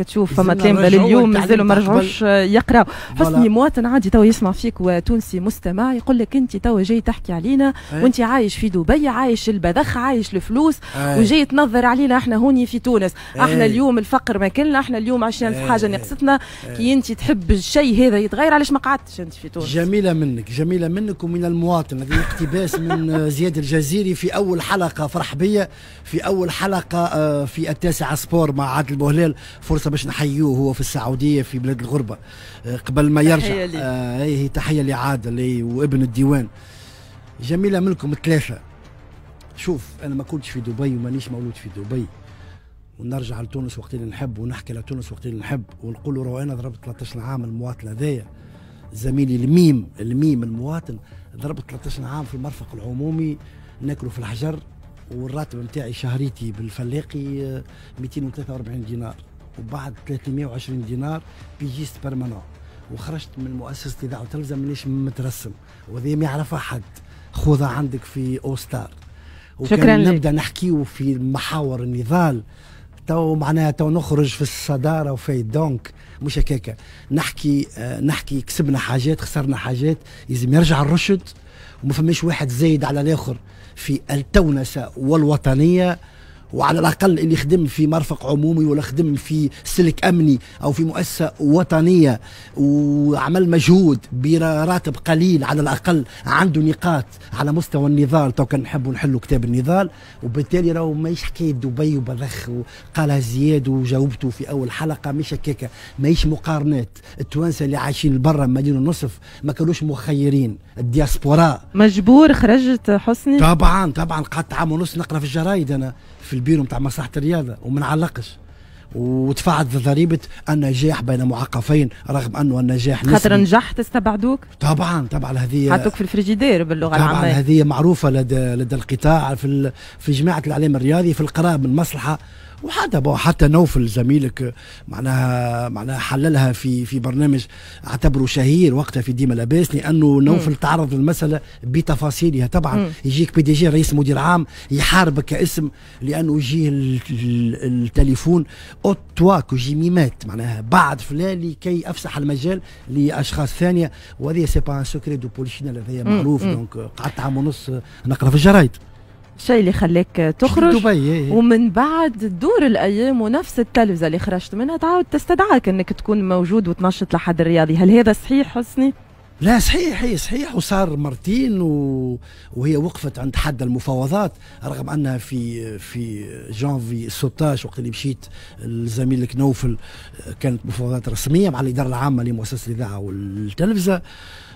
تشوف فما تلامذه لليوم مازالوا ما رجعوش يقراوا. حسني، مواطن عادي تو يسمع فيك وتونسي مستمع يقول لك انت تو جاي تحكي علينا وانت عايش في دبي، عايش البذخ، عايش الفلوس، وجاي تنظر علينا احنا هوني في تونس. احنا اليوم الفقر ما كلنا، احنا اليوم 20 ألف حاجة نقصتنا. كي انت تحب الشيء هذا يتغير، علاش ما قعدتش انت في تونس؟ جميلة منك، جميلة منك ومن المواطن. هذه اقتباس من زياد الجزيري في اول حلقه، فرح بيا في اول حلقة في التاسعة sport مع عادل بوهلال، فرصة باش نحيوه، هو في السعودية في بلاد الغربة قبل ما يرجع. هي تحية لعادل وابن الديوان. جميلة منكم الثلاثه. شوف، انا ما كنتش في دبي ومانيش مولود في دبي، ونرجع لتونس وقت اللي نحب ونحكي لتونس وقت اللي نحب، ونقول له انا ضربت 13 عام. المواطن هذايا زميلي الميم الميم المواطن، ضربت 13 عام في المرفق العمومي ناكلوا في الحجر، والراتب نتاعي شهريتي بالفلاقي 243 دينار، وبعد 320 دينار pigiste permanent، وخرجت من مؤسسة الاذاعة والتلفزه مانيش مترسم، وهذه ما يعرفها حد، خذها عندك في اوستار. شكرا. نبدا نحكيو في محاور النضال تو معناها تو نخرج في الصدارة وفي donc مش هكاكا نحكي. نحكي كسبنا حاجات، خسرنا حاجات، لازم يرجع الرشد، وما فماش واحد زايد على الاخر في التونسه والوطنيه. وعلى الاقل اللي خدم في مرفق عمومي ولا خدم في سلك امني او في مؤسسة وطنية وعمل مجهود براتب قليل، على الاقل عنده نقاط على مستوى النضال. تو كان نحبوا نحلوا كتاب النضال، وبالتالي راهو ماهيش حكاية دبي وبذخ، وقالها زياد وجاوبته في اول حلقه، مش هكاكا، ماهيش مقارنات. التوانسة اللي عايشين برا مليون ونصف ما كانوش مخيرين، الدياسبورا. مجبور خرجت حسني؟ طبعا طبعا، قعدت عام ونص نقرا في الجرايد انا في البيرو نتاع مصلحة الرياضة وما نعلقش، ودفعت ضريبة النجاح بين معقفين، رغم انه النجاح خاطر نجحت استبعدوك؟ طبعا طبعا، هذه حطوك في الفريجيدير باللغة طبعا العاميه. هذه معروفة لدى القطاع في جماعة الاعلام الرياضي في القراءة بالمصلحه، وحتى حتى نوفل زميلك معناها حللها في برنامج اعتبره شهير وقتها في ديما لاباس، لانه نوفل تعرض للمسالة بتفاصيلها. طبعا يجيك PDG رئيس مدير عام يحاربك كاسم، لانه يجيه التليفون ôte-toi que je m'y mette، معناها بعد فلان لكي افسح المجال لاشخاص ثانيه، وهذه c'est pas un secret de polichinelle، هذا معروف. donc قعدت عام ونص نقرا في الجرايد. الشيء اللي خلاك تخرج دبي إيه. ومن بعد تدور الايام ونفس التلفزة اللي خرجت منها تعاود تستدعاك انك تكون موجود وتنشط الأحد الرياضي، هل هذا صحيح حسني؟ لا صحيح، هي صحيح، وصار مرتين وهي وقفت عند حد المفاوضات، رغم انها في جانفي 16 وقت اللي مشيت لزميلك نوفل كانت مفاوضات رسمية مع الادارة العامة لمؤسسة الاذاعة والتلفزه،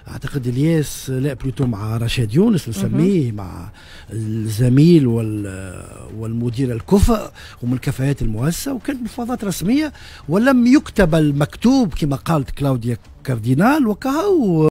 اعتقد الياس، لا plutôt مع رشاد يونس نسميه، مع الزميل والمدير الكفء ومن كفاءات المؤسسه، وكانت مفاوضات رسمية ولم يكتب المكتوب كما قالت كلاوديا كاردينال وكهو.